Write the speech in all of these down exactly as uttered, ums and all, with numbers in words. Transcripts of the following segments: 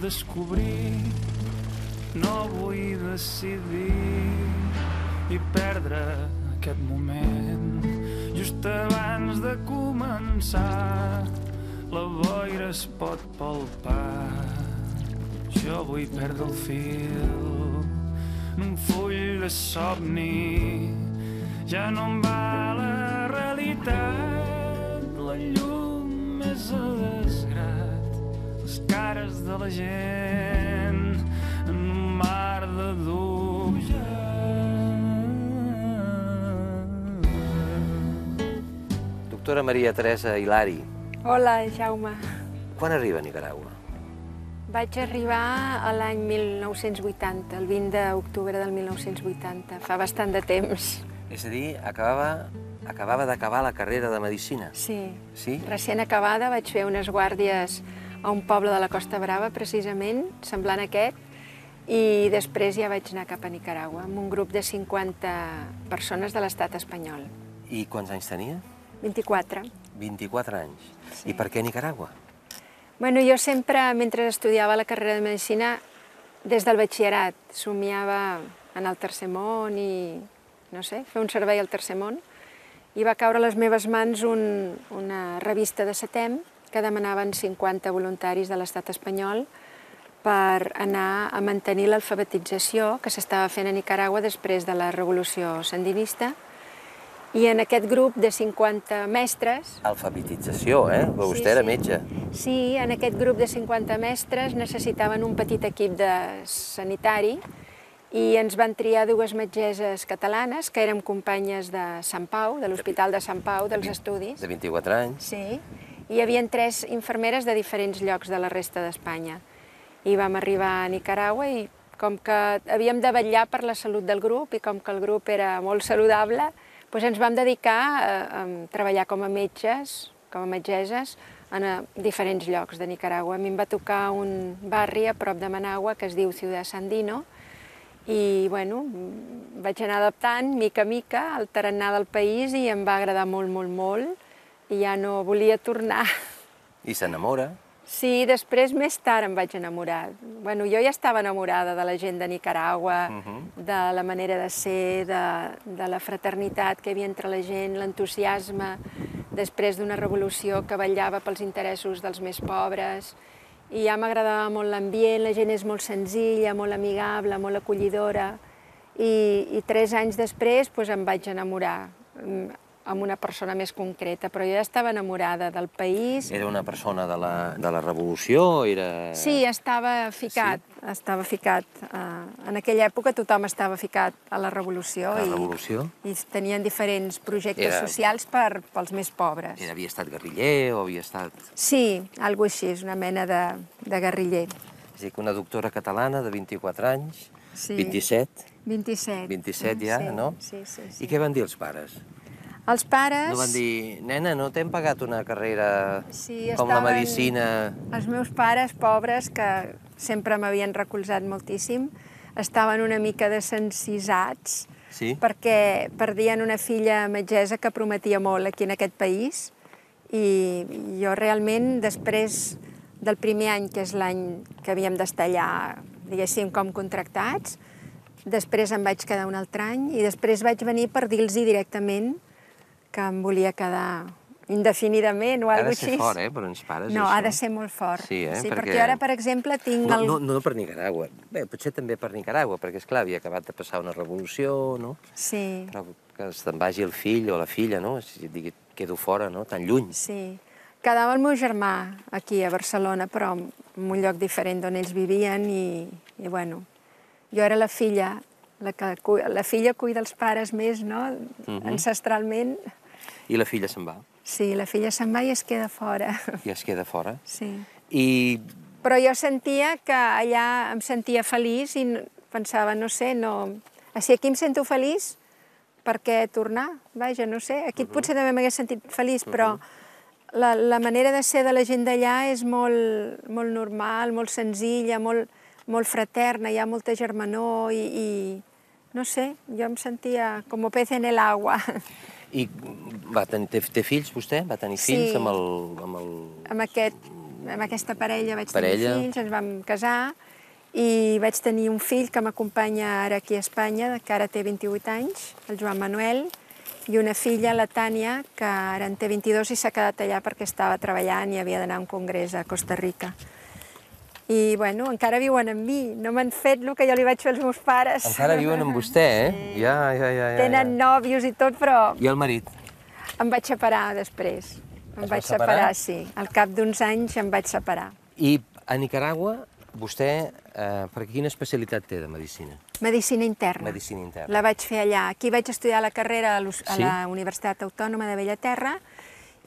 descobrir, no vull decidir i perdre aquest moment. Just abans de començar, la boira es pot palpar. Jo vull perdre el fil en un full de somni. Ja no em va la realitat, la llum és a desgrat, les cares de la gent en un mar de dubtes. Doctora Maria Teresa Hilari. Hola, Jaume. Quan arriba a Nicaragua? Vaig arribar a l'any mil nou-cents vuitanta, el vint d'octubre del mil nou-cents vuitanta, fa bastant de temps. És a dir, acabava, acabava d'acabar la carrera de Medicina. Sí. Sí? Recent acabada vaig fer unes guàrdies a un poble de la Costa Brava, precisament, semblant a aquest, i després ja vaig anar cap a Nicaragua, amb un grup de cinquanta persones de l'estat espanyol. I quants anys tenia? vint-i-quatre. vint-i-quatre anys. Sí. I per què Nicaragua? Bueno, jo sempre, mentre estudiava la carrera de Medicina, des del batxillerat, somiava en el tercer món i, no sé, fer un servei al tercer món, i va caure a les meves mans un, una revista de SETEM que demanaven cinquanta voluntaris de l'estat espanyol per anar a mantenir l'alfabetització que s'estava fent a Nicaragua després de la revolució sandinista. I en aquest grup de cinquanta mestres... Alfabetització, eh? Però vostè era metge. Sí, en aquest grup de cinquanta mestres necessitaven un petit equip de sanitari i ens van triar dues metgesses catalanes, que érem companyes de Sant Pau, de l'Hospital de Sant Pau, dels estudis. De vint-i-quatre anys. Sí, i hi havia tres infermeres de diferents llocs de la resta d'Espanya. I vam arribar a Nicaragua i com que havíem de vetllar per la salut del grup i com que el grup era molt saludable, doncs ens vam dedicar a, a treballar com a metges, com a metgesses, en diferents llocs de Nicaragua. A mi em va tocar un barri a prop de Managua que es diu Ciudad Sandino i, bueno, vaig anar adaptant mica a mica al tarannà del país i em va agradar molt, molt, molt i ja no volia tornar. I s'enamora? Sí, després, més tard, em vaig enamorar. Bueno, jo ja estava enamorada de la gent de Nicaragua, de la manera de ser, de, de la fraternitat que hi havia entre la gent, l'entusiasme, després d'una revolució que vetllava pels interessos dels més pobres. I ja m'agradava molt l'ambient, la gent és molt senzilla, molt amigable, molt acollidora. I, i tres anys després doncs, em vaig enamorar amb una persona més concreta, però jo ja estava enamorada del país. Era una persona de la, de la revolució? Era... Sí, estava ficat, sí? Estava ficat. En aquella època tothom estava ficat a la revolució. A la revolució? I, i tenien diferents projectes era... socials per, pels més pobres. Era, havia estat guerriller o havia estat... Sí, alguna cosa així, és una mena de, de guerriller. És a dir, que una doctora catalana de vint-i-quatre anys, sí. vint-i-set? vint-i-set. vint-i-set ja, sí, no? Sí, sí, sí. I què van dir els pares? Els pares... No van dir, nena, no t'hem pagat una carrera sí, com la medicina... Els meus pares, pobres, que sempre m'havien recolzat moltíssim, estaven una mica desencisats, sí? perquè perdien una filla metgessa que prometia molt aquí en aquest país, i jo realment, després del primer any, que és l'any que havíem d'estar allà, diguéssim, com contractats, després em vaig quedar un altre any, i després vaig venir per dir-los directament que em volia quedar indefinidament o alguna cosa així. Ha de ser fort, eh, per uns pares, no, això. ha de ser molt fort. Sí, eh? Sí, perquè... perquè ara, per exemple, tinc... No, el... no, no per Nicaragua. Bé, potser també per Nicaragua, perquè, esclar, havia acabat de passar una revolució, no? Sí. Però que se'n vagi el fill o la filla, no? Si digui, quedo fora, no? Tan lluny. Sí. Quedava el meu germà aquí a Barcelona, però en un lloc diferent d'on ells vivien i, i bueno, jo era la filla, la, que, la filla cuida els pares més, no? Uh-huh. Ancestralment. I la filla se'n va? Sí, la filla se'n va i es queda fora. I es queda fora? Sí. I... Però jo sentia que allà em sentia feliç i pensava, no sé, no... Si aquí em sento feliç, per què tornar? Vaja, no sé, aquí uh-huh. potser també m'hagués sentit feliç, però uh-huh. la, la manera de ser de la gent d'allà és molt, molt normal, molt senzilla, molt, molt fraterna, hi ha molta germanor i, i no sé, jo em sentia com pez en el agua. I va tenir, té, té fills, vostè? Va tenir fills sí. amb el... Amb, el... amb aquest amb aquesta parella vaig Parella. tenir fills, ens vam casar i vaig tenir un fill que m'acompanya ara aquí a Espanya, que ara té vint-i-vuit anys, el Joan Manuel, i una filla, la Tània, que ara en té vint-i-dos i s'ha quedat allà perquè estava treballant i havia d'anar a un congrés a Costa Rica. I, bueno, encara viuen amb mi. No m'han fet el que jo li vaig fer als meus pares. Encara viuen amb vostè, eh? Sí. Ja, ja, ja, ja. Tenen nòvios i tot, però I el marit? em vaig separar després. Em Es va vaig separar? separar, sí. Al cap d'uns anys em vaig separar. I a Nicaragua, vostè, eh, per quina especialitat té de medicina? Medicina interna. Medicina interna. La vaig fer allà. Aquí vaig estudiar la carrera a, a Sí? la Universitat Autònoma de Bellaterra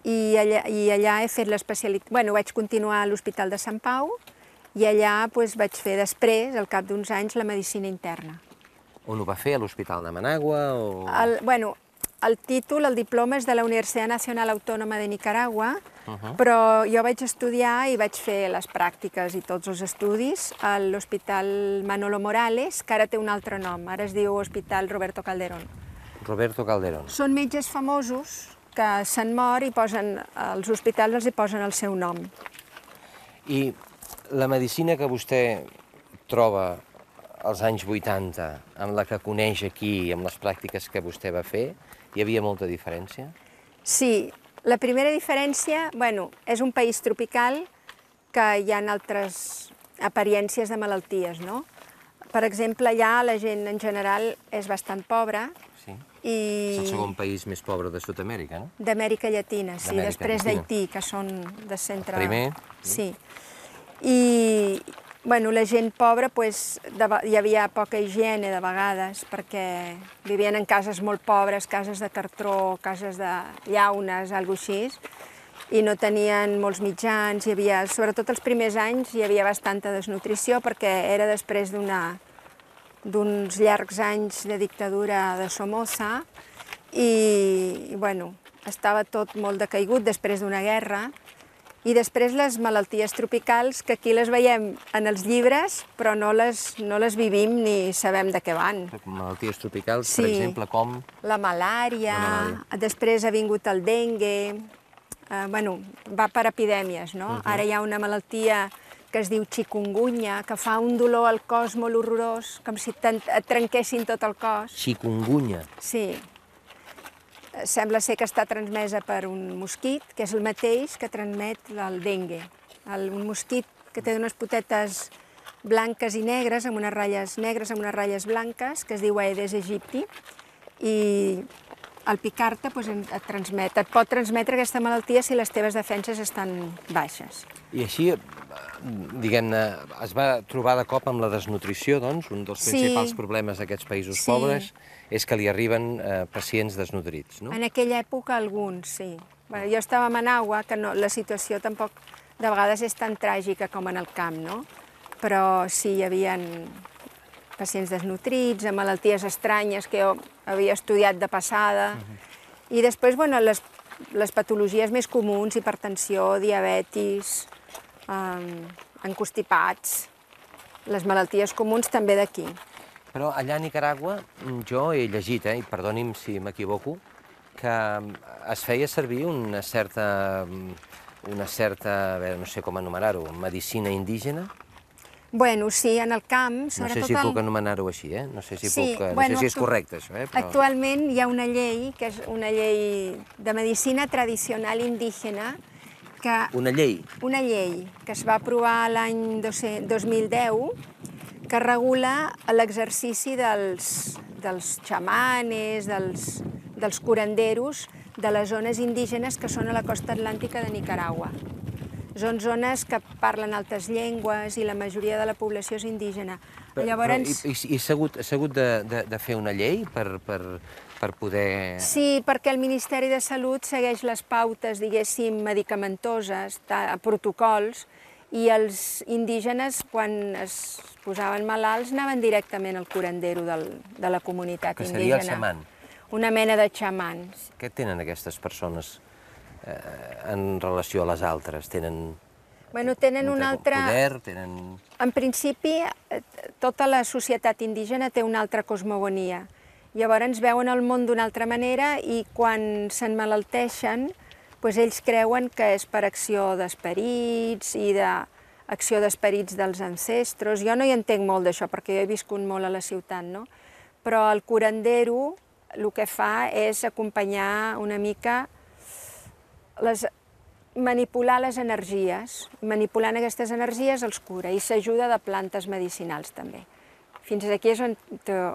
i allà, i allà he fet l'especialitat... Bueno, vaig continuar a l'Hospital de Sant Pau i allà pues, vaig fer després, al cap d'uns anys, la medicina interna. On ho va fer? A l'Hospital de Managua? O... El, bueno, el títol, el diploma és de la Universitat Nacional Autònoma de Nicaragua, uh -huh. però jo vaig estudiar i vaig fer les pràctiques i tots els estudis a l'Hospital Manolo Morales, que ara té un altre nom, ara es diu Hospital Roberto Calderón. Roberto Calderón. Són metges famosos que se'n mor i posen, els hospitals els hi posen el seu nom. I la medicina que vostè troba als anys vuitanta, amb la que coneix aquí, amb les pràctiques que vostè va fer, hi havia molta diferència? Sí, la primera diferència, bueno, és un país tropical que hi ha altres apariències de malalties, no? Per exemple, allà la gent en general és bastant pobra. Sí. I... És el segon país més pobre de Sud-amèrica, no? D'Amèrica Llatina, sí, després Llatina. d'Haití, que són de centre... Primer. Sí. I, bueno, la gent pobra, pues, de, hi havia poca higiene de vegades, perquè vivien en cases molt pobres, cases de cartró, cases de llaunes, alguna cosa així, i no tenien molts mitjans, hi havia, sobretot els primers anys, hi havia bastanta desnutrició, perquè era després d'una d'uns llargs anys de dictadura de Somoza, i, i bueno, estava tot molt decaigut després d'una guerra, i després les malalties tropicals, que aquí les veiem en els llibres, però no les, no les vivim ni sabem de què van. Malalties tropicals, Sí. per exemple, com... La malària, La malària. després ha vingut el dengue, eh, bueno, va per epidèmies, no? Ara hi ha una malaltia que es diu chikungunya, que fa un dolor al cos molt horrorós, com si et trenquessin tot el cos. Chikungunya. Sí. Sembla ser que està transmesa per un mosquit, que és el mateix que transmet el dengue. El, un mosquit que té unes potetes blanques i negres, amb unes ratlles negres, amb unes ratlles blanques, que es diu Aedes aegypti, i al picar-te doncs, et transmet. Et pot transmetre aquesta malaltia si les teves defenses estan baixes. I així, diguem-ne, es va trobar de cop amb la desnutrició, doncs, un dels Sí. principals problemes d'aquests països Sí. pobres és que li arriben eh, pacients desnutrits, no? En aquella època alguns, sí. Bueno, jo estava a Managua, que no, la situació tampoc de vegades és tan tràgica com en el camp, no? Però sí, hi havia pacients desnutrits, amb malalties estranyes que jo havia estudiat de passada. I després, bueno, les, les patologies més comuns, hipertensió, diabetis, eh, encostipats, les malalties comuns també d'aquí. Però allà a Nicaragua, jo he llegit, eh, i perdoni'm si m'equivoco, que es feia servir una certa, una certa, a veure, no sé com anomenar-ho, medicina indígena? Bueno, sí, en el camp, No sobretot... sé si el... puc anomenar-ho així, eh? No sé si, Sí, puc, no bueno, sé si és actu- correcte, això, eh? Però... Actualment hi ha una llei, que és una llei de medicina tradicional indígena, que Una llei. una llei que es va aprovar l'any dos mil deu, que regula l'exercici dels, dels xamanes, dels, dels curanderos de les zones indígenes que són a la costa atlàntica de Nicaragua. Són zones que parlen altres llengües i la majoria de la població és indígena. Però, Llavors... però, i i, i s'ha hagut, s'ha hagut de, de, de fer una llei per, per, per poder... Sí, perquè el Ministeri de Salut segueix les pautes, diguéssim, medicamentoses, ta- protocols, i els indígenes, quan es posaven malalts, anaven directament al curandero del, de la comunitat Que indígena. seria el xaman. Una mena de xamans. Què tenen aquestes persones eh, en relació a les altres? Tenen Bueno, tenen un altre... poder, tenen... En principi, eh, tota la societat indígena té una altra cosmogonia. Llavors veuen el món d'una altra manera i quan s'emmalalteixen, doncs ells creuen que és per acció d'esperits i d'acció d'esperits dels ancestros. Jo no hi entenc molt d'això, perquè jo he viscut molt a la ciutat, no? Però el curandero el que fa és acompanyar una mica, les, manipular les energies. Manipulant aquestes energies els cura i s'ajuda de plantes medicinals també. Fins aquí és on,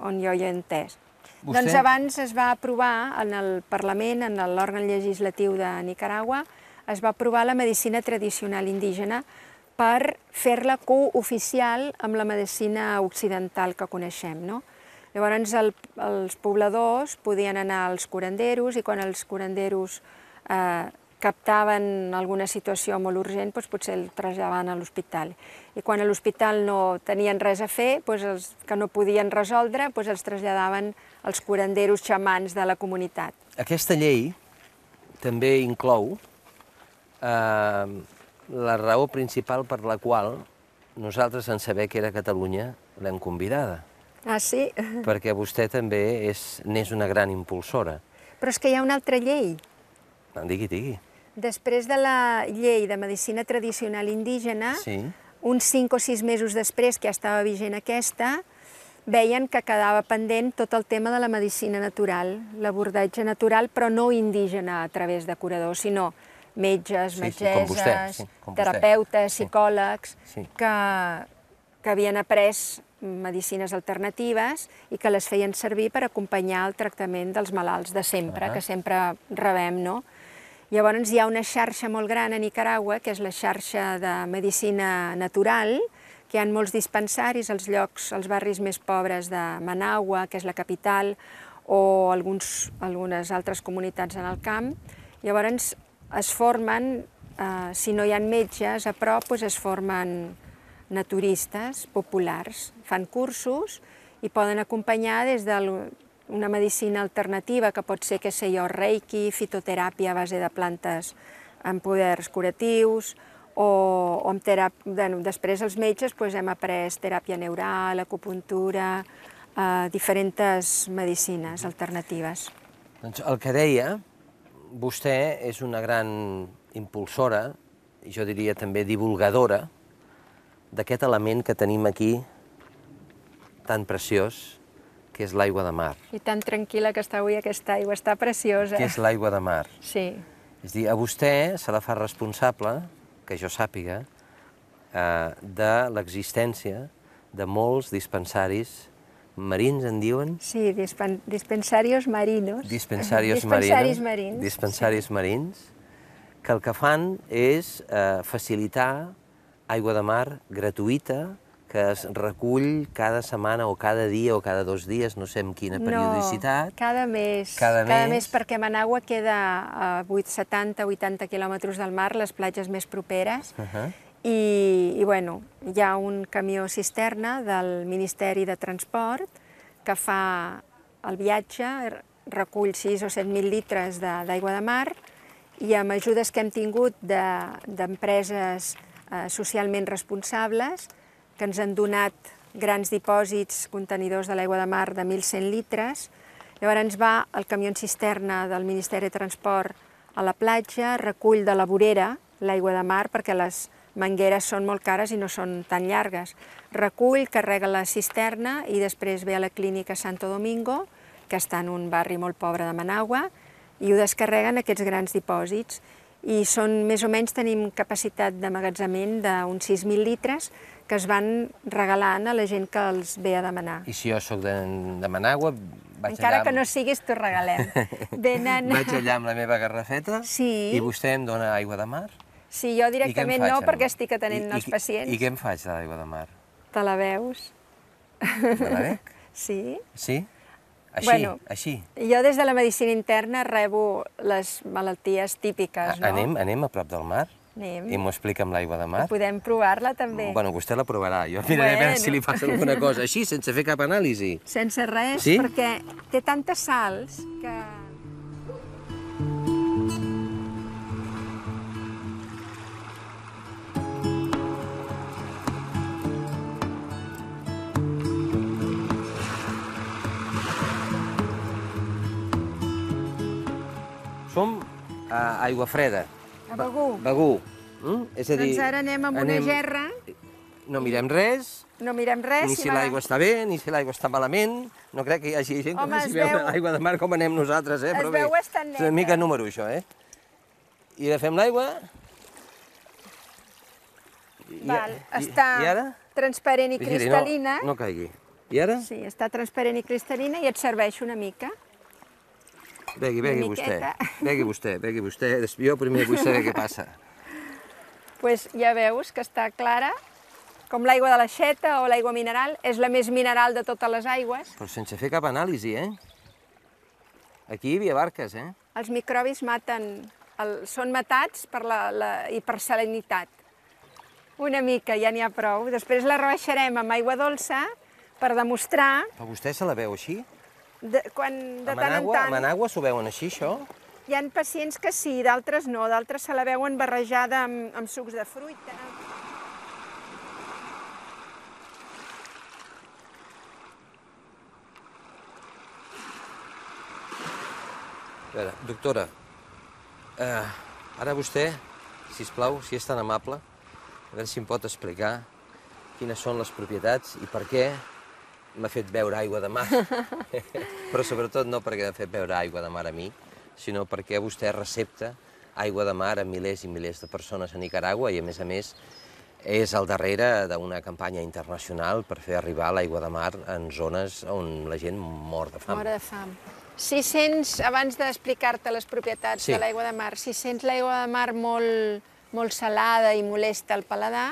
on jo hi he entès. Vostè... Doncs abans es va aprovar en el Parlament, en l'òrgan legislatiu de Nicaragua, es va aprovar la medicina tradicional indígena per fer-la cooficial amb la medicina occidental que coneixem, no? Llavors el, els pobladors podien anar als curanderos i quan els curanderos eh, captaven alguna situació molt urgent, doncs potser el traslladaven a l'hospital. I quan a l'hospital no tenien res a fer, doncs els que no podien resoldre, doncs els traslladaven als curanderos xamans de la comunitat. Aquesta llei també inclou eh, la raó principal per la qual nosaltres, en saber que era Catalunya, l'hem convidada. Ah, sí? Perquè vostè també n'és una gran impulsora. Però és que hi ha una altra llei. No, digui, digui. Després de la llei de medicina tradicional indígena, sí. uns cinc o sis mesos després, que ja estava vigent aquesta, veien que quedava pendent tot el tema de la medicina natural, l'abordatge natural, però no indígena a través de curadors, sinó metges, sí, metgesses, sí, com vostè, sí, com terapeutes, sí. psicòlegs, sí. que, que havien après medicines alternatives i que les feien servir per acompanyar el tractament dels malalts de sempre, uh -huh. que sempre rebem, no? Llavors hi ha una xarxa molt gran a Nicaragua, que és la xarxa de medicina natural, que hi ha molts dispensaris als llocs, als barris més pobres de Managua, que és la capital, o alguns, algunes altres comunitats en el camp. Llavors es formen, eh, si no hi ha metges a prop, doncs es formen naturistes populars, fan cursos i poden acompanyar des d'una medicina alternativa, que pot ser, que sé jo, reiki, fitoteràpia a base de plantes amb poders curatius, o, o amb teràpia... Bueno, després els metges doncs, hem après teràpia neural, acupuntura, eh, diferents medicines alternatives. Doncs el que deia, vostè és una gran impulsora, i jo diria també divulgadora, d'aquest element que tenim aquí, tan preciós, que és l'aigua de mar. I tan tranquil·la que està avui aquesta aigua, està preciosa. Que és l'aigua de mar. Sí. És a dir, a vostè se la fa responsable, que jo sàpiga, eh, de l'existència de molts dispensaris marins, en diuen? Sí, dispen dispensarios marinos. Dispensaris Dispensaris marins. marins. Dispensaris sí. marins, que el que fan és eh, facilitar aigua de mar gratuïta, que es recull cada setmana o cada dia o cada dos dies, no sé amb quina periodicitat. No, cada mes. Cada, cada mes. mes, perquè Managua queda a setanta o vuitanta quilòmetres del mar, les platges més properes, uh -huh. i, i bueno, hi ha un camió cisterna del Ministeri de Transport que fa el viatge, recull sis o set mil litres d'aigua de, de mar, i amb ajudes que hem tingut d'empreses de, eh, socialment responsables, que ens han donat grans dipòsits, contenidors de l'aigua de mar de mil cent litres. Llavors va el camió cisterna del Ministeri de Transport a la platja, recull de la vorera l'aigua de mar, perquè les mangueres són molt cares i no són tan llargues. Recull, carrega la cisterna i després ve a la clínica Santo Domingo, que està en un barri molt pobre de Managua, i ho descarreguen aquests grans dipòsits. I són, més o menys, tenim capacitat d'emmagatzemament d'uns sis mil litres que es van regalant a la gent que els ve a demanar. I si jo sóc de, de Managua, vaig Encara allà... que no siguis, t'ho regalem. Venen... Vaig allà amb la meva garrafeta sí. i vostè em dona aigua de mar? Sí, jo directament no, perquè estic atenent I, els pacients. I, I què em faig de l'aigua de mar? Te la veus? Me la bec? Sí. Sí? Així, bueno, així? Jo des de la medicina interna rebo les malalties típiques, no? Anem, anem a prop del mar? Anem. I m'ho explica amb l'aigua de mar? Podem provar-la també. Bueno, vostè la provarà. Jo miraré bueno. a veure si li passa alguna cosa. Així, sense fer cap anàlisi. Sense res, sí? perquè té tantes sals que... Som a aigua freda. A Begur. Begur. Mm? És a dir, Doncs ara anem amb una gerra. No mirem res, no mirem res. ni si l'aigua està bé, ni si l'aigua està malament. No crec que hi hagi gent que faci veure l'aigua de mar com anem nosaltres, eh? Es veu bastant neta. És una mica número, això, eh? I agafem l'aigua. Val, està transparent i cristal·lina. No caigui. I ara? Sí, està transparent i cristal·lina i et serveix una mica. Begui, begui vostè. Begui vostè, begui vostè. Jo primer vull saber què passa. Doncs ja veus que està clara, com l'aigua de l'aixeta o l'aigua mineral. És la més mineral de totes les aigües. Però sense fer cap anàlisi, eh? Aquí hi havia barques, eh? Els microbis maten, són matats per la hipersalinitat. Una mica, ja n'hi ha prou. Després la rebaixarem amb aigua dolça per demostrar... Però vostè se la veu així? Quan de tant en tant... Amb anagua s'ho veuen així, això? Hi ha pacients que sí, d'altres no. D'altres se la veuen barrejada amb sucs de fruita. A veure, doctora, ara vostè, sisplau, si és tan amable, a veure si em pot explicar quines són les propietats i per què m'ha fet beure aigua de mar. Però sobretot no perquè m'ha fet beure aigua de mar a mi, sinó perquè vostè recepta aigua de mar a milers i milers de persones a Nicaragua i, a més a més, és al darrere d'una campanya internacional per fer arribar l'aigua de mar en zones on la gent mor de fam. Mor de fam. Si sents, abans d'explicar-te les propietats de l'aigua de mar, si sents l'aigua de mar molt molt salada i molesta al paladar,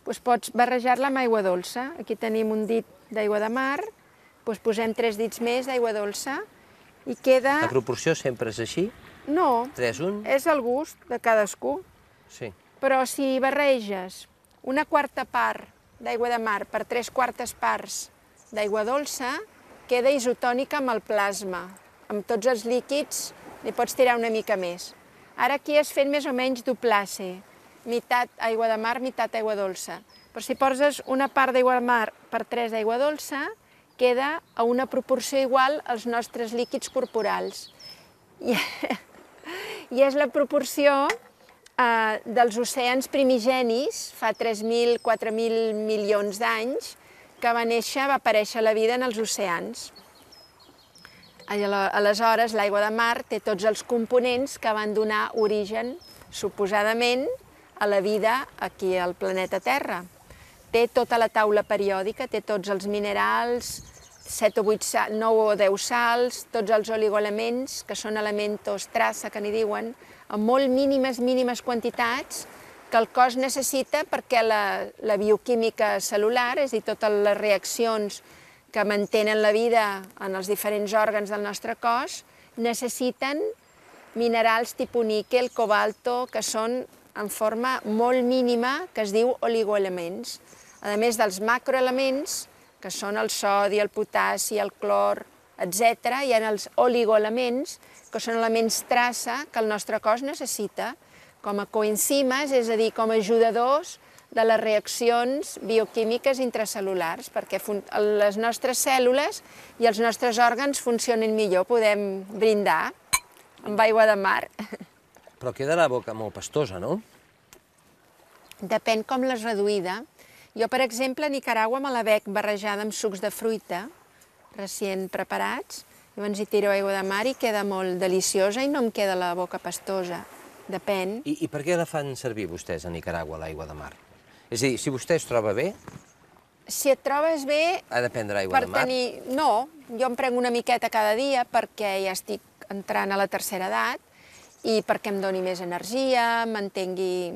doncs pots barrejar-la amb aigua dolça. Aquí tenim un dit d'aigua de mar, doncs posem tres dits més d'aigua dolça i queda... La proporció sempre és així? No, tres un? És el gust de cadascú. Sí. Però si barreges una quarta part d'aigua de mar per tres quartes parts d'aigua dolça, queda isotònica amb el plasma. Amb tots els líquids li pots tirar una mica més. Ara aquí has fet més o menys duplasse, meitat aigua de mar, meitat aigua dolça. Però si poses una part d'aigua de mar per tres d'aigua dolça, queda a una proporció igual als nostres líquids corporals. I, i és la proporció eh, dels oceans primigenis, fa tres mil, quatre mil milions d'anys, que va néixer, va aparèixer la vida en els oceans. Aleshores, l'aigua de mar té tots els components que van donar origen, suposadament, a la vida aquí al planeta Terra. Té tota la taula periòdica, té tots els minerals, set o vuit, nou o deu sals, tots els oligoelements, que són elementos traça, que n'hi diuen, amb molt mínimes, mínimes quantitats que el cos necessita perquè la, la bioquímica cel·lular, és a dir, totes les reaccions que mantenen la vida en els diferents òrgans del nostre cos, necessiten minerals tipus níquel, cobalto, que són en forma molt mínima, que es diu oligoelements. A més dels macroelements, que són el sodi, el potassi, el clor, etcètera, hi ha els oligoelements, que són elements traça que el nostre cos necessita com a coenzimes, és a dir, com a ajudadors de les reaccions bioquímiques intracel·lulars, perquè les nostres cèl·lules i els nostres òrgans funcionin millor, podem brindar amb aigua de mar. Però queda la boca molt pastosa, no? Depèn com l'has reduïda. Jo, per exemple, a Nicaragua me la bec barrejada amb sucs de fruita, recient preparats, llavors hi tiro aigua de mar i queda molt deliciosa i no em queda la boca pastosa. Depèn. I, i per què la fan servir vostès a Nicaragua, l'aigua de mar? És a dir, si vostè es troba bé... Si et trobes bé... Ha de prendre aigua de mar? Tenir... No, jo em prenc una miqueta cada dia perquè ja estic entrant a la tercera edat i perquè em doni més energia, mantengui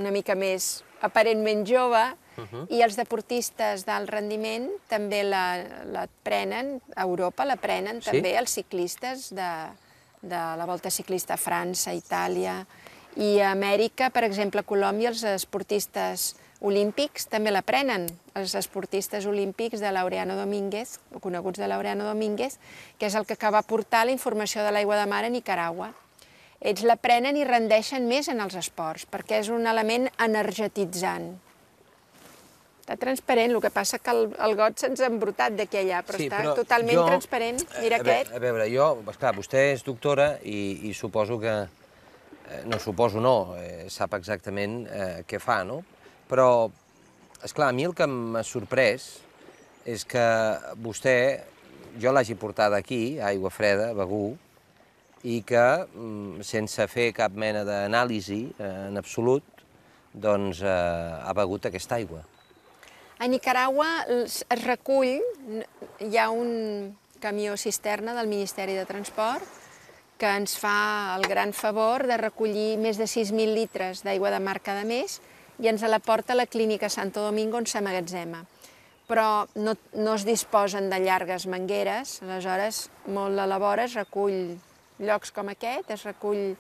una mica més aparentment jove, uh-huh. I els deportistes d'alt rendiment també la, la prenen, a Europa la prenen, sí? També els ciclistes de, de la Volta Ciclista a França, Itàlia, i a Amèrica, per exemple, a Colòmbia, els esportistes olímpics també la prenen, els esportistes olímpics de Laureano Domínguez, o coneguts de Laureano Domínguez, que és el que va portar la informació de l'aigua de mar a Nicaragua. Ells la prenen i rendeixen més en els esports, perquè és un element energetitzant. Està transparent, el que passa que el, el got se'ns ha embrutat d'aquí allà, però sí, està però totalment jo, transparent. Mira a aquest. A veure, jo, esclar, vostè és doctora i, i suposo que no suposo no, sap exactament què fa, no? Però, esclar, a mi el que m'ha sorprès és que vostè, jo l'hagi portada aquí, a Aigua Freda, a Begur, i que, sense fer cap mena d'anàlisi en absolut, doncs ha begut aquesta aigua. A Nicaragua es recull, hi ha un camió cisterna del Ministeri de Transport que ens fa el gran favor de recollir més de sis mil litres d'aigua de mar cada mes i ens la porta a la clínica Santo Domingo on s'emmagatzema. Però no, no es disposen de llargues mangueres, aleshores molt a la vora es recull llocs com aquest, es recull,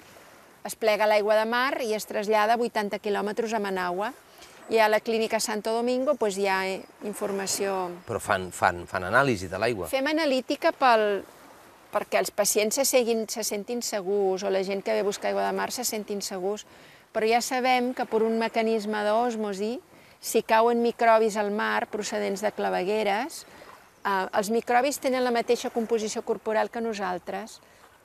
es plega l'aigua de mar i es trasllada vuitanta quilòmetres a Managua. I a la clínica Santo Domingo doncs, hi ha informació... Però fan, fan, fan anàlisi de l'aigua? Fem analítica pel, perquè els pacients se, seguin, se sentin segurs o la gent que ve a buscar aigua de mar se sentin segurs, però ja sabem que per un mecanisme d'òsmosi, si cauen microbis al mar procedents de clavegueres, eh, els microbis tenen la mateixa composició corporal que nosaltres.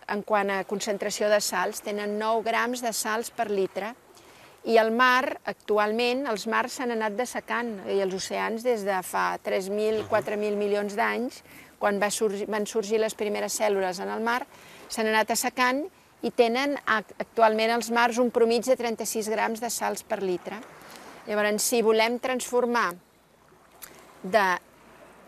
En quant a concentració de sals, tenen nou grams de sals per litre. I el mar, actualment, els mars s'han anat dessecant, i els oceans des de fa tres mil, quatre mil milions d'anys, quan va sorgir, van sorgir les primeres cèl·lules en el mar, s'han anat assecant i tenen actualment els mars un promig de trenta-sis grams de sals per litre. Llavors, si volem transformar de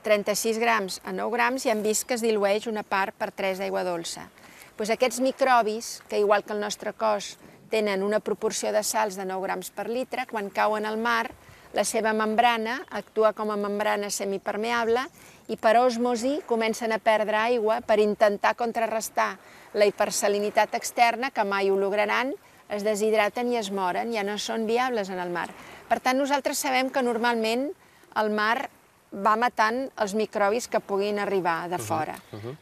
trenta-sis grams a nou grams, ja hem vist que es dilueix una part per tres d'aigua dolça. Doncs aquests microbis, que igual que el nostre cos tenen una proporció de sals de nou grams per litre, quan cauen al mar, la seva membrana actua com a membrana semipermeable i per òsmosi comencen a perdre aigua per intentar contrarrestar la hipersalinitat externa, que mai ho lograran, es deshidraten i es moren, ja no són viables en el mar. Per tant, nosaltres sabem que normalment el mar va matant els microbis que puguin arribar de fora.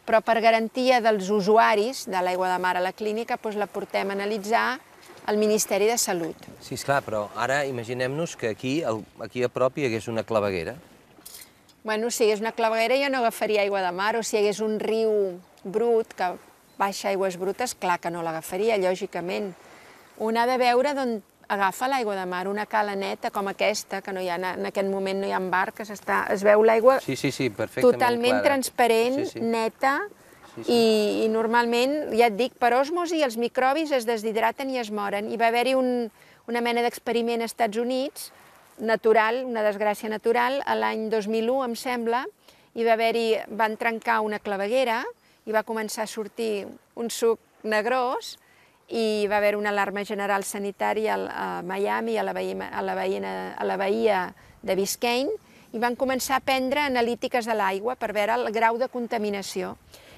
Però per garantia dels usuaris de l'aigua de mar a la clínica, doncs la portem a analitzar al Ministeri de Salut. Sí, esclar, però ara imaginem-nos que aquí, aquí a prop hi hagués una claveguera. Bueno, si hi hagués una claveguera jo no agafaria aigua de mar, o si hi hagués un riu brut que baixa aigües brutes, clar que no l'agafaria, lògicament. Un ha de veure d'on agafa l'aigua de mar, una cala neta com aquesta, que no hi ha, en aquest moment no hi ha barques, està, es veu l'aigua sí, sí, sí, perfectament totalment clara. Transparent, Sí, sí. neta, Sí, sí. I, i normalment, ja et dic, per òsmosi els microbis es deshidraten i es moren. I va haver-hi un, una mena d'experiment als Estats Units, natural, una desgràcia natural, a l'any dos mil u, em sembla, i va haver-hi, van trencar una claveguera i va començar a sortir un suc negrós i va haver una alarma general sanitària a Miami, a la bahia, a la bahia, a la bahia de Biscayne, i van començar a prendre analítiques de l'aigua per veure el grau de contaminació.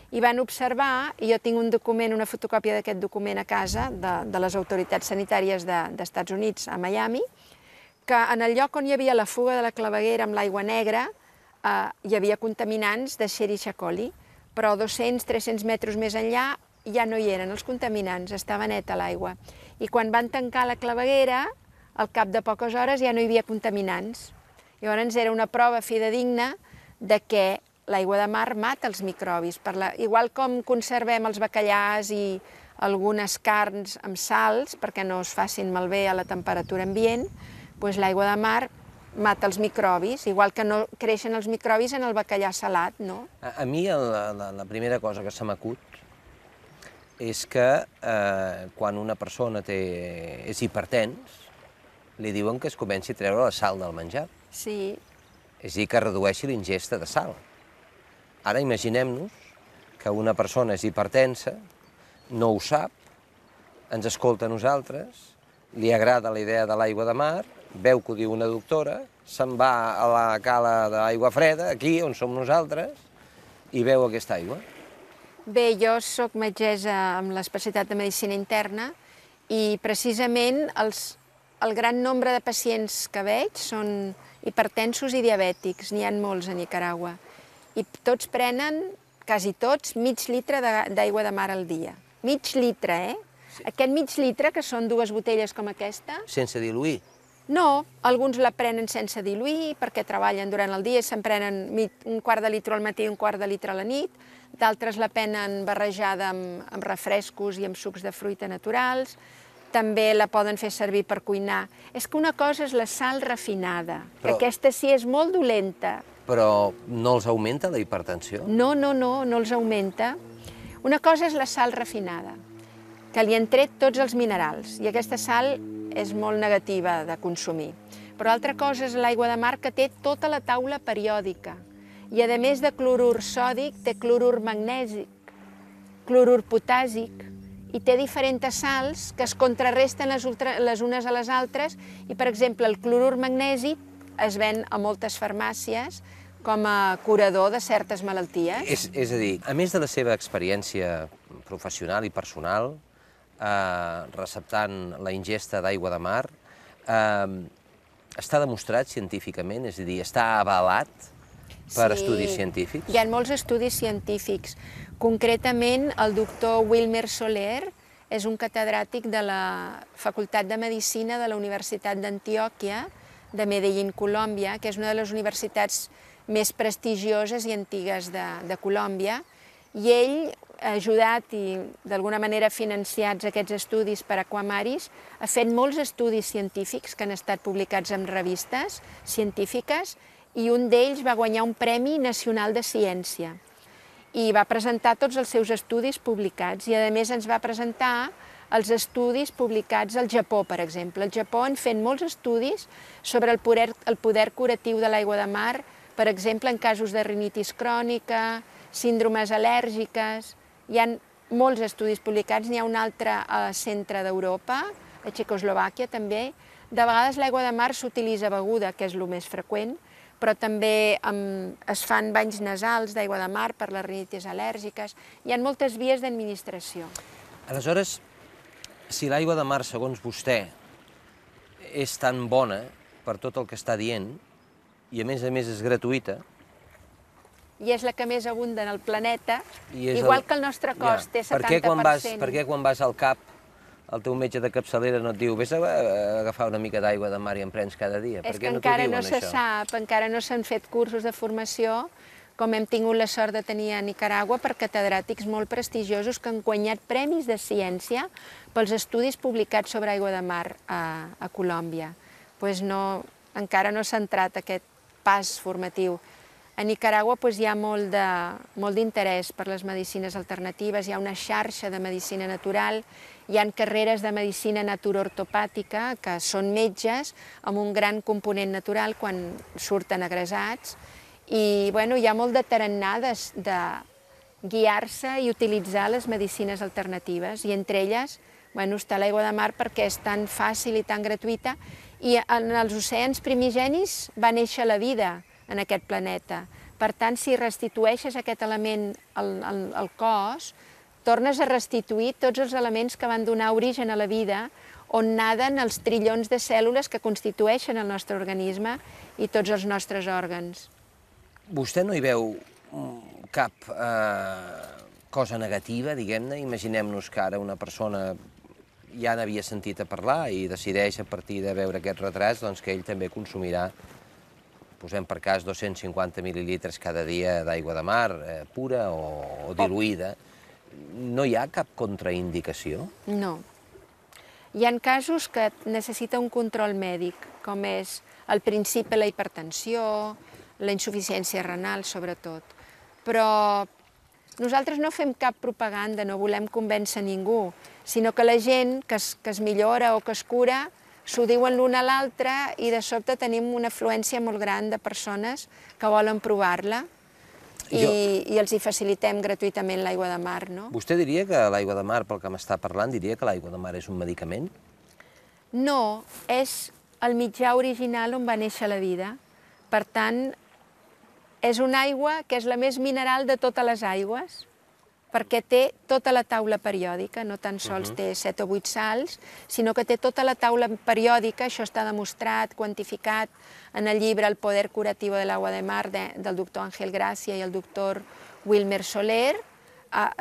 I van observar, i jo tinc un document, una fotocòpia d'aquest document a casa, de, de les autoritats sanitàries dels Estats Units, a Miami, que en el lloc on hi havia la fuga de la claveguera amb l'aigua negra, eh, hi havia contaminants de Escherichia coli, però dos-cents a tres-cents metres més enllà ja no hi eren els contaminants, estava neta l'aigua. I quan van tancar la claveguera, al cap de poques hores ja no hi havia contaminants. Llavors era una prova fidedigna de que l'aigua de mar mata els microbis. Per la, igual com conservem els bacallars i algunes carns amb sals perquè no es facin malbé a la temperatura ambient, doncs l'aigua de mar mata els microbis, igual que no creixen els microbis en el bacallà salat, no? A, a mi la, la, la primera cosa que se m'acut és que eh, quan una persona té, és hipertens, li diuen que es comenci a treure la sal del menjar. Sí. És a dir, que redueixi l'ingesta de sal. Ara imaginem-nos que una persona és hipertensa, no ho sap, ens escolta a nosaltres, li agrada la idea de l'aigua de mar, veu que ho diu una doctora, se'n va a la cala d'aigua freda, aquí on som nosaltres, i veu aquesta aigua. Bé, jo soc metgessa amb l'especialitat de medicina interna i precisament els, el gran nombre de pacients que veig són hipertensos i diabètics, n'hi ha molts a Nicaragua. I tots prenen, quasi tots, mig litre d'aigua de mar al dia. Mig litre, eh? Sí. Aquest mig litre, que són dues botelles com aquesta... Sense diluir? No, alguns la prenen sense diluir, perquè treballen durant el dia, se'n prenen un quart de litre al matí i un quart de litre a la nit, d'altres la prenen barrejada amb, amb refrescos i amb sucs de fruita naturals. també la poden fer servir per cuinar. És que una cosa és la sal refinada, que aquesta sí és molt dolenta. Però no els augmenta la hipertensió? No, no, no, no els augmenta. Una cosa és la sal refinada, que li han tret tots els minerals, i aquesta sal és molt negativa de consumir. Però altra cosa és l'aigua de mar, que té tota la taula periòdica, i a més de clorur sòdic, té clorur magnèsic, clorur potàsic, i té diferents sals que es contrarresten les, ultra, les unes a les altres, i per exemple el clorur magnèsic es ven a moltes farmàcies com a curador de certes malalties. És, és a dir, a més de la seva experiència professional i personal, eh, receptant la ingesta d'aigua de mar, eh, està demostrat científicament, és a dir, està avalat per sí, estudis científics? Hi ha molts estudis científics. Concretament, el doctor Wilmer Soler és un catedràtic de la Facultat de Medicina de la Universitat d'Antioquia, de Medellín, Colòmbia, que és una de les universitats més prestigioses i antigues de, de Colòmbia, i ell ha ajudat i d'alguna manera financiats aquests estudis per Aquamaris, ha fet molts estudis científics que han estat publicats en revistes científiques, i un d'ells va guanyar un Premi Nacional de Ciència. I va presentar tots els seus estudis publicats, i a més ens va presentar els estudis publicats al Japó, per exemple. Al Japó han fet molts estudis sobre el poder, el poder curatiu de l'aigua de mar, per exemple, en casos de rinitis crònica, síndromes al·lèrgiques. Hi ha molts estudis publicats, n'hi ha un altre al centre d'Europa, a Txecoslovàquia també. De vegades l'aigua de mar s'utilitza beguda, que és el més freqüent, però també um, es fan banys nasals d'aigua de mar per les rinitis al·lèrgiques. Hi ha moltes vies d'administració. Aleshores, si l'aigua de mar, segons vostè, és tan bona per tot el que està dient, i a més a més és gratuïta... I és la que més abunda en el planeta, igual el... que el nostre cos ja. té setanta per cent. Per què quan vas, per què quan vas al cap el teu metge de capçalera no et diu vés a agafar una mica d'aigua de mar i en prens cada dia? És que encara no se sap, encara no s'han fet cursos de formació, com hem tingut la sort de tenir a Nicaragua, per catedràtics molt prestigiosos que han guanyat premis de ciència pels estudis publicats sobre aigua de mar a, a Colòmbia. Pues no, encara no s'ha entrat aquest pas formatiu. A Nicaragua pues, hi ha molt d'interès per les medicines alternatives, hi ha una xarxa de medicina natural, hi ha carreres de medicina naturoortopàtica, que són metges amb un gran component natural quan surten agressats, i bueno, hi ha molt de tarannà de, de guiar-se i utilitzar les medicines alternatives, i entre elles bueno, està l'aigua de mar perquè és tan fàcil i tan gratuïta, i en els oceans primigenis va néixer la vida en aquest planeta. Per tant, si restitueixes aquest element al, al, al cos, tornes a restituir tots els elements que van donar origen a la vida, on naden els trillons de cèl·lules que constitueixen el nostre organisme i tots els nostres òrgans. Vostè no hi veu cap eh, cosa negativa, diguem-ne? Imaginem-nos que ara una persona ja n'havia sentit a parlar i decideix a partir de veure aquests retrats doncs, que ell també consumirà, posem per cas, dos-cents cinquanta mil·lilitres cada dia d'aigua de mar, eh, pura o, o diluïda. No hi ha cap contraindicació? No. Hi ha casos que necessita un control mèdic, com és al principi la hipertensió, la insuficiència renal, sobretot. Però nosaltres no fem cap propaganda, no volem convèncer ningú, sinó que la gent que es, que es millora o que es cura s'ho diuen l'un a l'altre i de sobte tenim una afluència molt gran de persones que volen provar-la i, jo... i els hi facilitem gratuïtament l'aigua de mar, no? Vostè diria que l'aigua de mar, pel que m'està parlant, diria que l'aigua de mar és un medicament? No, és el mitjà original on va néixer la vida. Per tant, és una aigua que és la més mineral de totes les aigües, perquè té tota la taula periòdica, no tan sols té set o vuit sals, sinó que té tota la taula periòdica, això està demostrat, quantificat en el llibre El poder curativo del agua de mar del doctor Ángel Gracia i el doctor Wilmer Soler,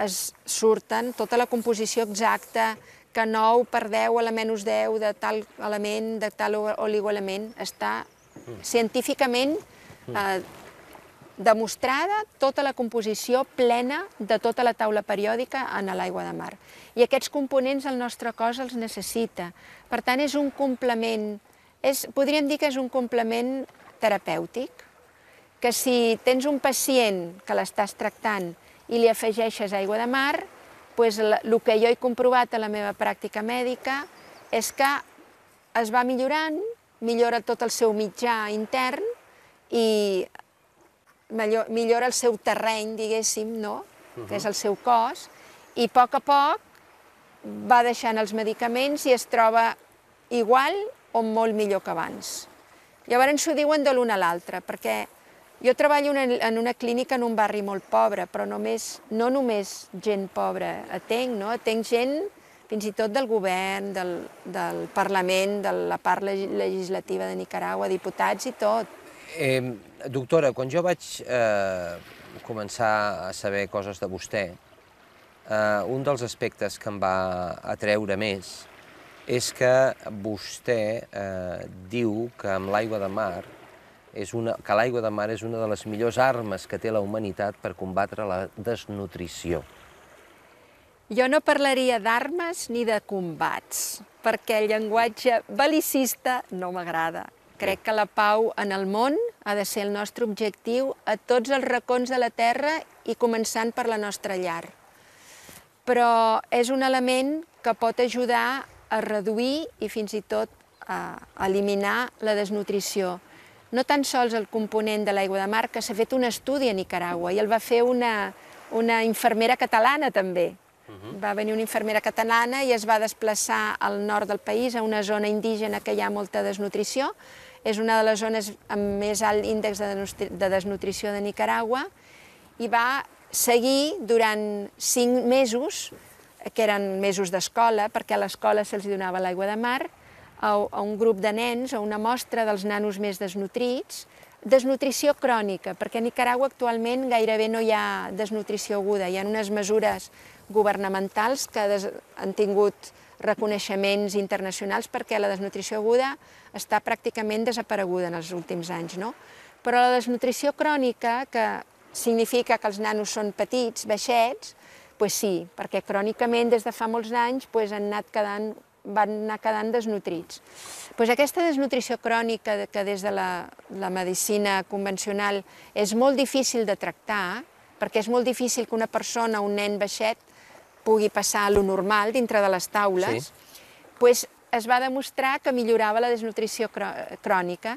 es surten tota la composició exacta, que nou per deu a la menys deu de tal element, de tal oligoelement, està científicament demostrada tota la composició plena de tota la taula periòdica en l'aigua de mar. I aquests components el nostre cos els necessita. Per tant, és un complement, és, podríem dir que és un complement terapèutic, que si tens un pacient que l'estàs tractant i li afegeixes aigua de mar, doncs el que jo he comprovat a la meva pràctica mèdica és que es va millorant, millora tot el seu mitjà intern i millora el seu terreny, diguéssim, no? Que és el seu cos, i a poc a poc va deixant els medicaments i es troba igual o molt millor que abans. Llavors s'ho diuen de l'un a l'altre, perquè jo treballo en una clínica en un barri molt pobre, però només, no només gent pobra atenc, no? Atenc gent fins i tot del govern, del, del Parlament, de la part legislativa de Nicaragua, diputats i tot. Eh, doctora, quan jo vaig eh, començar a saber coses de vostè, eh, un dels aspectes que em va atreure més és que vostè eh, diu que amb l'aigua de mar és una, que l'aigua de mar és una de les millors armes que té la humanitat per combatre la desnutrició. Jo no parlaria d'armes ni de combats, perquè el llenguatge bel·licista no m'agrada. Crec que la pau en el món ha de ser el nostre objectiu a tots els racons de la Terra i començant per la nostra llar. Però és un element que pot ajudar a reduir i fins i tot a eliminar la desnutrició. No tan sols el component de l'aigua de mar, que s'ha fet un estudi a Nicaragua i el va fer una, una infermera catalana també. Va venir una infermera catalana i es va desplaçar al nord del país, a una zona indígena que hi ha molta desnutrició. És una de les zones amb més alt índex de desnutrició de Nicaragua i va seguir durant cinc mesos, que eren mesos d'escola, perquè a l'escola se'ls donava l'aigua de mar, a un grup de nens, a una mostra dels nanos més desnutrits, desnutrició crònica, perquè a Nicaragua actualment gairebé no hi ha desnutrició aguda, hi ha unes mesures governamentals que han tingut reconeixements internacionals perquè la desnutrició aguda està pràcticament desapareguda en els últims anys, no? Però la desnutrició crònica, que significa que els nanos són petits, baixets, doncs sí, perquè crònicament des de fa molts anys han anat quedant, van anar quedant desnutrits. Doncs aquesta desnutrició crònica, que des de la, la medicina convencional és molt difícil de tractar, perquè és molt difícil que una persona, un nen baixet, pugui passar a lo normal dintre de les taules, sí. Doncs es va demostrar que millorava la desnutrició crònica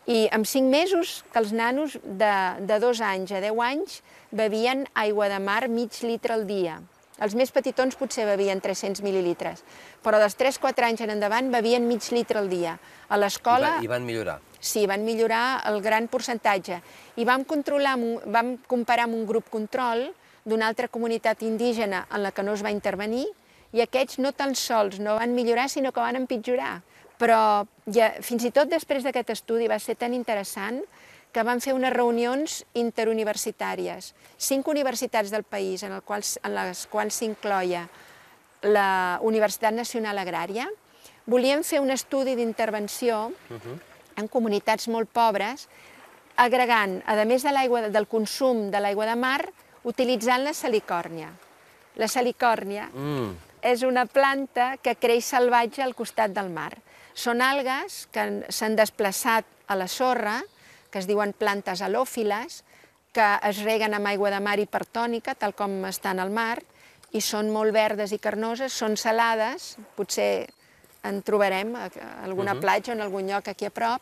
i en cinc mesos que els nanos de, de dos anys a deu anys bevien aigua de mar mig litre al dia. Els més petitons potser bevien tres-cents mil·lilitres, però dels tres quatre anys en endavant bevien mig litre al dia. A l'escola... I van millorar? Sí, van millorar el gran percentatge. I vam, controlar, vam comparar amb un grup control d'una altra comunitat indígena en la que no es va intervenir, i aquests no tan sols no van millorar, sinó que van empitjorar. Però ja, fins i tot després d'aquest estudi va ser tan interessant que van fer unes reunions interuniversitàries. Cinc universitats del país, en, el qual, en les quals s'incloia la Universitat Nacional Agrària, volien fer un estudi d'intervenció en comunitats molt pobres, agregant, a més de l'aigua del consum de l'aigua de mar, utilitzant la salicòrnia. La salicòrnia mm. és una planta que creix salvatge al costat del mar. Són algues que s'han desplaçat a la sorra, que es diuen plantes halòfiles, que es reguen amb aigua de mar hipertònica, tal com estan al mar, i són molt verdes i carnoses, són salades, potser en trobarem a alguna platja o en algun lloc aquí a prop,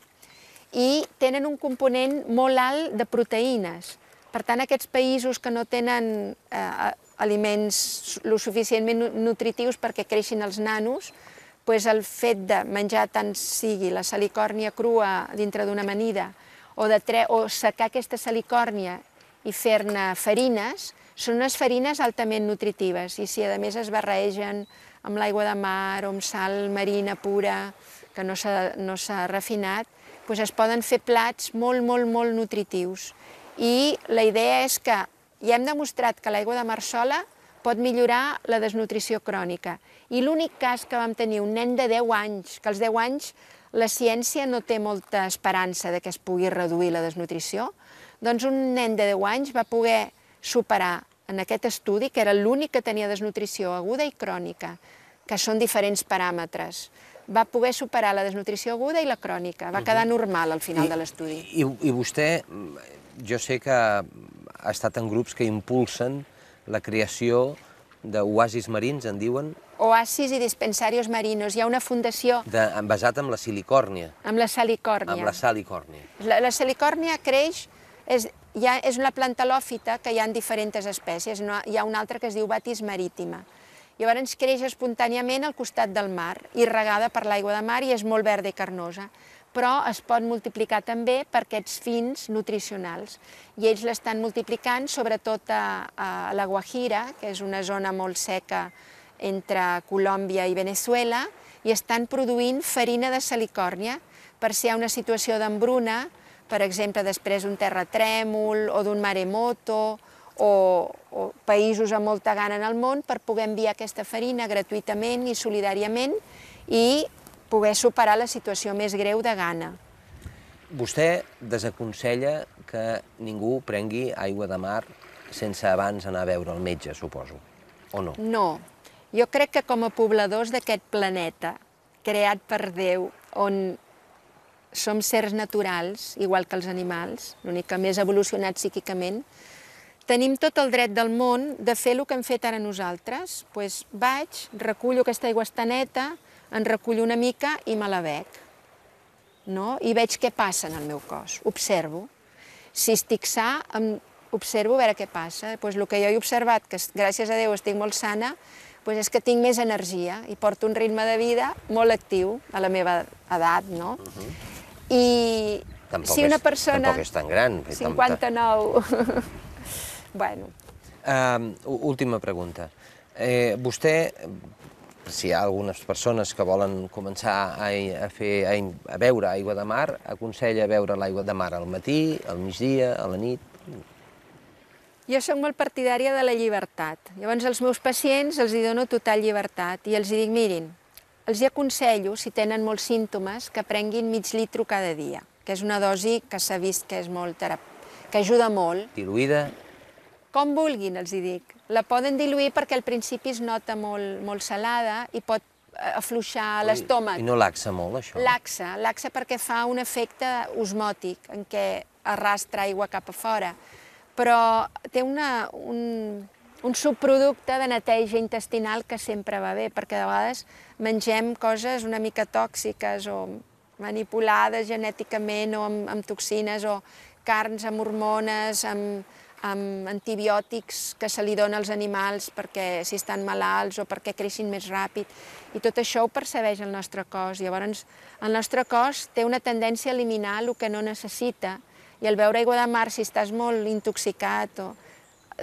i tenen un component molt alt de proteïnes. Per tant, aquests països que no tenen eh, aliments lo suficientment nutritius perquè creixin els nanos, doncs el fet de menjar tant sigui la salicòrnia crua dintre d'una amanida o, de tre o secar aquesta salicòrnia i fer-ne farines, són unes farines altament nutritives i si a més es barregen amb l'aigua de mar o amb sal marina pura que no s'ha no s'ha refinat, doncs es poden fer plats molt, molt, molt nutritius. I la idea és que ja hem demostrat que l'aigua de mar sola pot millorar la desnutrició crònica. I l'únic cas que vam tenir un nen de deu anys, que als deu anys la ciència no té molta esperança de que es pugui reduir la desnutrició, Doncs un nen de deu anys va poder superar en aquest estudi, que era l'únic que tenia desnutrició aguda i crònica, que són diferents paràmetres. Va poder superar la desnutrició aguda i la crònica, va quedar normal al final de l'estudi. I, I vostè, jo sé que ha estat en grups que impulsen la creació d'oasis marins, en diuen? Oasis i dispensarios marinos. Hi ha una fundació... De, basat en la silicòrnia. Amb la salicòrnia. Amb la salicòrnia. La, la salicòrnia creix, és, ha, és una planta lòfita que hi ha en diferents espècies. No, hi ha una altra que es diu Batis maritima. Llavors creix espontàniament al costat del mar, irregada per l'aigua de mar i és molt verda i carnosa, però es pot multiplicar també per aquests fins nutricionals. I ells l'estan multiplicant sobretot a, a la Guajira, que és una zona molt seca entre Colòmbia i Venezuela, i estan produint farina de salicòrnia per si hi ha una situació d'embruna, per exemple, després d'un terratrèmol o d'un maremoto, o, o països amb molta gana en el món, per poder enviar aquesta farina gratuïtament i solidàriament i poder superar la situació més greu de gana. Vostè desaconsella que ningú prengui aigua de mar sense abans anar a veure el metge, suposo, o no? No. Jo crec que com a pobladors d'aquest planeta, creat per Déu, on som sers naturals, igual que els animals, l'únic que més evolucionat psíquicament, tenim tot el dret del món de fer el que hem fet ara nosaltres. Doncs vaig, recullo aquesta aigua està neta, en recullo una mica i me la bec. No? I veig què passa en el meu cos, observo. Si estic sa, observo a veure què passa. Doncs el que jo he observat, que gràcies a Déu estic molt sana, doncs és que tinc més energia i porto un ritme de vida molt actiu a la meva edat, no? I si una persona... Tampoc és tan gran. cinquanta-nou... Bueno. Uh, última pregunta. Eh, vostè, si hi ha algunes persones que volen començar a, a, fer, a, a beure aigua de mar, aconsella beure l'aigua de mar al matí, al migdia, a la nit? Jo soc molt partidària de la llibertat. Llavors als meus pacients els hi dono total llibertat i els hi dic, mirin, els hi aconsello, si tenen molts símptomes, que prenguin mig litro cada dia, que és una dosi que s'ha vist que és molt terapèutica, que ajuda molt. Diluïda? Com vulguin, els hi dic. La poden diluir perquè al principi es nota molt, molt salada i pot afluixar l'estómac. I no laxa molt, això? Laxa, laxa perquè fa un efecte osmòtic, en què arrastra aigua cap a fora, però té una, un, un subproducte de neteja intestinal que sempre va bé, perquè de vegades mengem coses una mica tòxiques o manipulades genèticament o amb, amb toxines o carns amb hormones, amb amb antibiòtics que se li dona als animals perquè si estan malalts o perquè creixin més ràpid. I tot això ho percebeix el nostre cos. Llavors, el nostre cos té una tendència a eliminar el que no necessita i al beure aigua de mar, si estàs molt intoxicat, o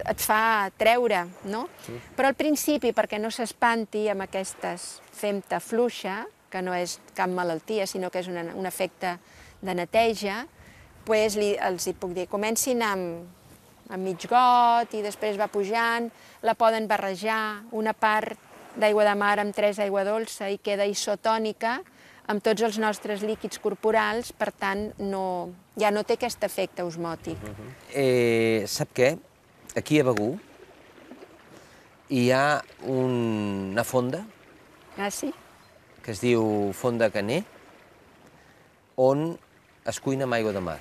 et fa treure, no? Sí. Però al principi, perquè no s'espanti amb aquestes fem-te fluixa, que no és cap malaltia, sinó que és una, un efecte de neteja, doncs li, els hi puc dir, comencin amb amb mig got i després va pujant, la poden barrejar, una part d'aigua de mar amb tres aigua dolça i queda isotònica amb tots els nostres líquids corporals, per tant, no, ja no té aquest efecte osmòtic. Uh-huh. eh, sap què? Aquí a Begur hi ha un, una fonda ah, sí? que es diu Fonda Caner, on es cuina amb aigua de mar.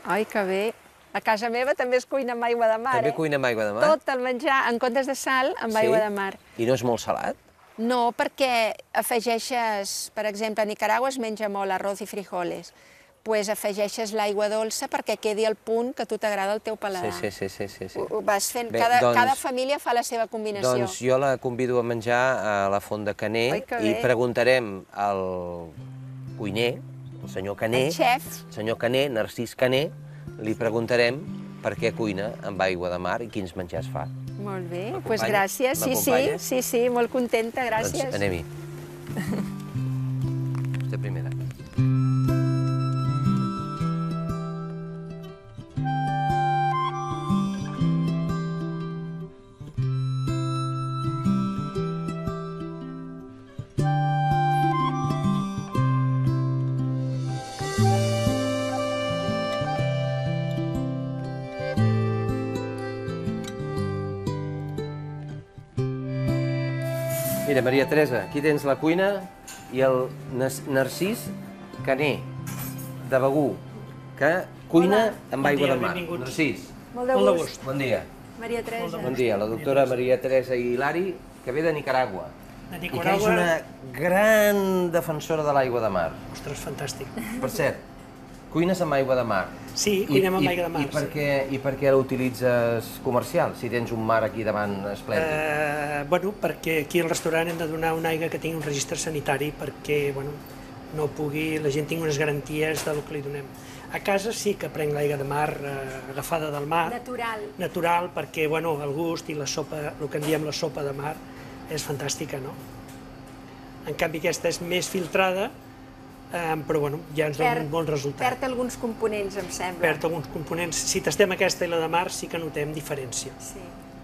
Ai, que bé! A casa meva també es cuina amb aigua de mar, També eh? cuina amb aigua de mar? Tot el menjar, en comptes de sal, amb sí? aigua de mar. I no és molt salat? No, perquè afegeixes, per exemple, a Nicaragua es menja molt arroz i frijoles, doncs afegeixes l'aigua dolça perquè quedi al punt que a tu t'agrada el teu paladar. Sí, sí, sí. sí, sí. Ho vas fent, Bé, cada, doncs, cada família fa la seva combinació. Doncs jo la convido a menjar a la Font de Caner. Oi, que i bé. Preguntarem al cuiner, el senyor Caner, el xef, el senyor Caner, Narcís Caner, li preguntarem per què cuina amb aigua de mar i quins menjars fa. Molt bé, doncs gràcies. Sí, sí, sí, sí, molt contenta, gràcies. Doncs anem-hi. Vostè primera. Mira, Maria Teresa, aquí tens la cuina i el Narcís Caner, de Begur, que cuina amb aigua de mar. Narcís. Molt de gust. Bon dia. Maria Teresa. Bon dia, la doctora Maria Teresa Hilari, que ve de Nicaragua. I que és una gran defensora de l'aigua de mar. Ostres, fantàstic. Per cert, cuines amb aigua de mar. Sí, cuinem amb aigua de mar. I per què l'utilitzes comercial, si tens un mar aquí davant esplèndid? Bueno, perquè aquí al restaurant hem de donar una aigua que tingui un registre sanitari perquè no pugui, la gent tingui unes garanties del que li donem. A casa sí que prenc l'aigua de mar agafada del mar. Natural. Natural, perquè el gust i la sopa, el que en diem la sopa de mar, és fantàstica, no? En canvi aquesta és més filtrada, però ja ens dona un bon resultat. Perd alguns components, em sembla. Perd alguns components. Si tastem aquesta i la de mar sí que notem diferència. Sí.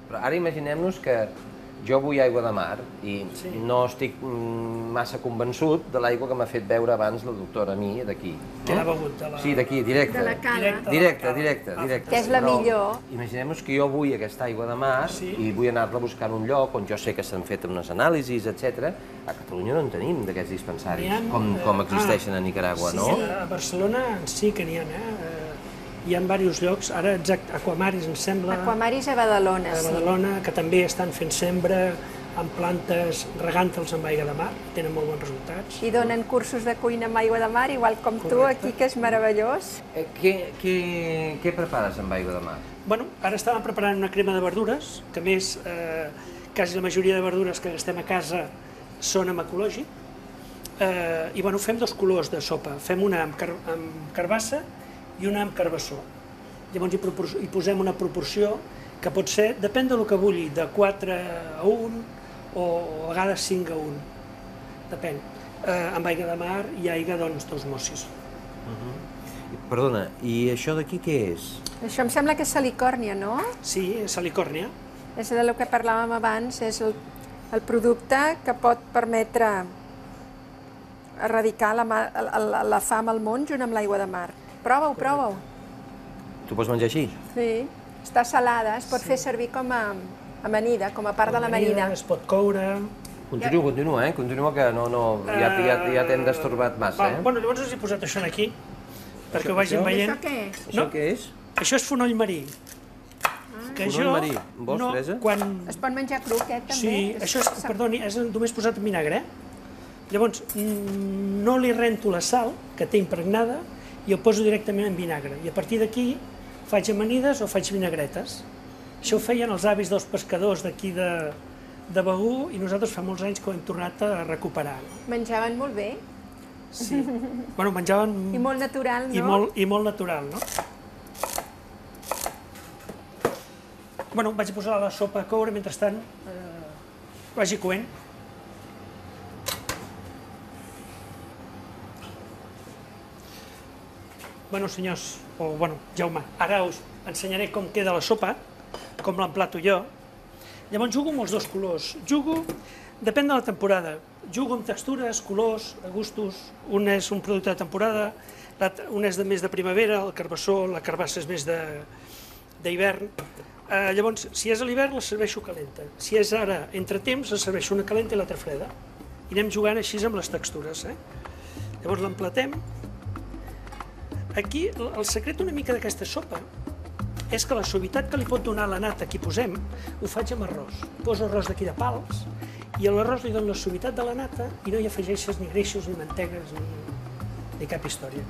Però ara imaginem-nos que jo vull aigua de mar i no estic massa convençut de l'aigua que m'ha fet beure abans la doctora a mi, d'aquí. Que l'ha begut? Sí, d'aquí, directe. De la cala. Directe, directe, directe. Que és la millor. Imaginem-nos que jo vull aquesta aigua de mar i vull anar-la buscant un lloc on jo sé que s'han fet unes anàlisis, etcètera. A Catalunya no en tenim d'aquests dispensaris, com existeixen a Nicaragua, no? Sí, a Barcelona sí que n'hi ha, eh? Hi ha diversos llocs, ara exacte, Aquamaris, em sembla... Aquamaris a Badalona, sí. A Badalona, que també estan fent sembra amb plantes, regant-los amb aigua de mar, tenen molt bons resultats. I donen cursos de cuina amb aigua de mar, igual com tu, aquí, que és meravellós. Què prepares amb aigua de mar? Bueno, ara estàvem preparant una crema de verdures, que a més, quasi la majoria de verdures que gastem a casa són amb ecològic, i bueno, fem dos colors de sopa, fem una amb carbassa i una amb carbassó. Llavors hi posem una proporció que pot ser, depèn del que vulgui, de quatre a un o a vegades cinc a un, depèn. Amb aigua de mar i aigua, doncs, dos mossis. Perdona, i això d'aquí què és? Això em sembla que és salicòrnia, no? Sí, és salicòrnia. És del que parlàvem abans, és el producte que pot permetre erradicar la fam al món junt amb l'aigua de mar. Prova-ho, prova-ho. Tu pots menjar així? Sí. Està salada, es pot fer servir com a amanida, com a part de l'amanida. Es pot coure... Continua, continua, eh? Continua, que ja t'hem destorbat massa, eh? Bueno, llavors us he posat això aquí, perquè ho vagin veient. Això què és? Això què és? Això és fonoll marí. Fonoll marí. Vols, Teresa? Es pot menjar cru, aquest, també? Sí, això és, perdoni, és només posat en vinagre. Llavors, no li rento la sal, que té impregnada, i ho poso directament en vinagre. I a partir d'aquí faig amanides o faig vinagretes. Això ho feien els avis dels pescadors d'aquí de Begur i nosaltres fa molts anys que ho hem tornat a recuperar. Menjaven molt bé. Sí. Bueno, menjaven... I molt natural, no? I molt natural, no? Bueno, vaig posar la sopa a coure, mentrestant vagi coent. Bueno, senyors, o bueno, Jaume, ara us ensenyaré com queda la sopa, com l'emplato jo. Llavors jugo amb els dos colors. Jugo, depèn de la temporada, jugo amb textures, colors, gustos. Un és un producte de temporada, un és més de primavera, el carbassó, la carbassa és més d'hivern. Llavors, si és a l'hivern, la serveixo calenta. Si és ara entre temps, la serveixo una calenta i l'altra freda. I anem jugant així amb les textures. Llavors l'emplatem. Aquí, el secret una mica d'aquesta sopa és que la suavitat que li pot donar la nata que hi posem, ho faig amb arròs. Poso arròs d'aquí de pals i a l'arròs li dono la suavitat de la nata i no hi afegeixes ni greixos, ni mantegues, ni cap història.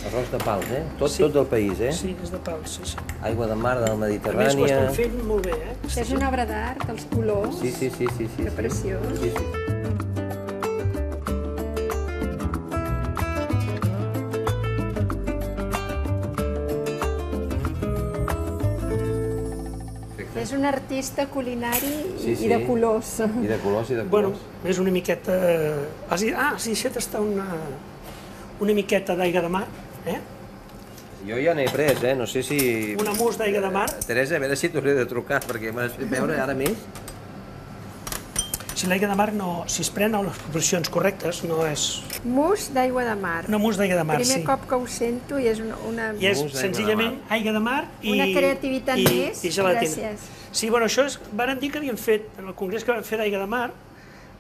Arròs de pals, eh? Tot del país, eh? Sí, és de pals, sí, sí. Aigua de mar, de la Mediterrània... A més, ho estem fent molt bé, eh? És una obra d'art, els colors. Sí, sí, sí, sí. Que preciós. Sí, sí. És un artista culinari i de colors. I de colors, i de colors. Bueno, és una miqueta... Ah, sí, això està una miqueta d'aigua de mar, eh? Jo ja n'he pres, eh? No sé si... Una mousse d'aigua de mar. Teresa, a veure si t'hauré de trucar, perquè m'has fet veure ara més. Si l'aigua de mar no... Si es pren a les proporcions correctes, no és... Mousse d'aigua de mar. Una mousse d'aigua de mar, sí. Primer cop que ho sento i és una... I és senzillament aigua de mar i... Una creativitat més. I gelatina. Gràcies. Sí, bueno, això és... Varen dir que havien fet, en el congrés que van fer d'aigua de mar,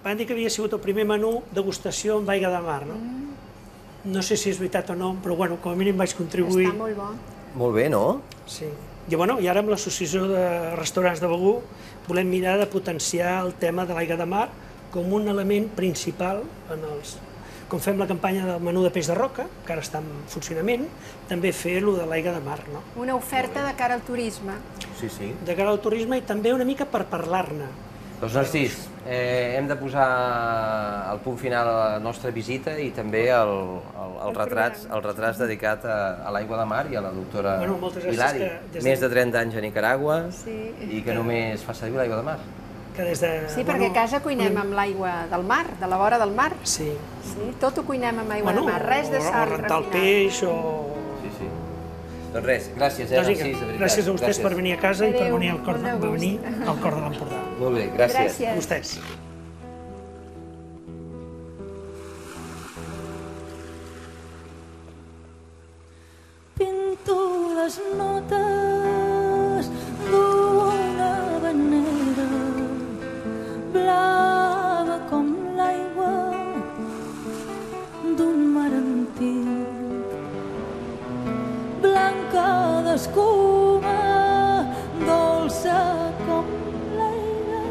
van dir que havia sigut el primer menú degustació amb aigua de mar, no? No sé si és veritat o no, però bueno, com a mínim vaig contribuir. Està molt bo. Molt bé, no? Sí. I, bueno, i ara amb l'Associació de Restaurants de Begur volem mirar de potenciar el tema de l'aigua de mar com un element principal en els... Com fem la campanya del menú de peix de roca, que ara està en funcionament, també fer-lo de l'aigua de mar, no? Una oferta de cara al turisme. Sí, sí. De cara al turisme i també una mica per parlar-ne. Doncs Narcís, eh, hem de posar el punt final a la nostra visita i també el, el, el, retrats, el retrats dedicat a, a l'aigua de mar i a la doctora Bueno, moltes gràcies Hilari. que des de- Més de trenta anys a Nicaragua Sí. i que només fa servir l'aigua de mar. Que des de, Sí, perquè a casa cuinem amb l'aigua del mar, de la vora del mar. Sí. Sí, tot ho cuinem amb aigua Bueno, de mar, res de o- sal o rentar el refinada. peix o... Sí, sí. Doncs res, gràcies, eh, Doncs vinga, Narcís, de veritat. gràcies a vostès per venir a casa i per Adéu, venir al cor, molt de de, gust. venir al cor de l'Empordà. Molt bé, gràcies. Gràcies. A vostès. Pinto les notes d'una habanera blava com l'aigua d'un mar antic, blanca d'escuma, dolça com l'aire,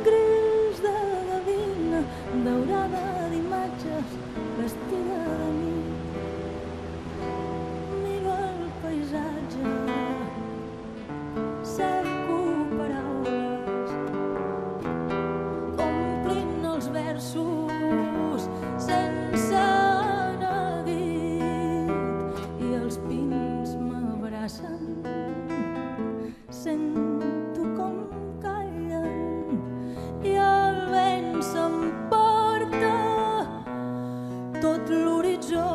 gris de gavina, daurada d'imatges, vestida de nit. Miro el paisatge, cerco paraules, complint els versos sense neguit, i els pins m'abracen, sento com callen, i el vent s'emporta tot l'horitzó.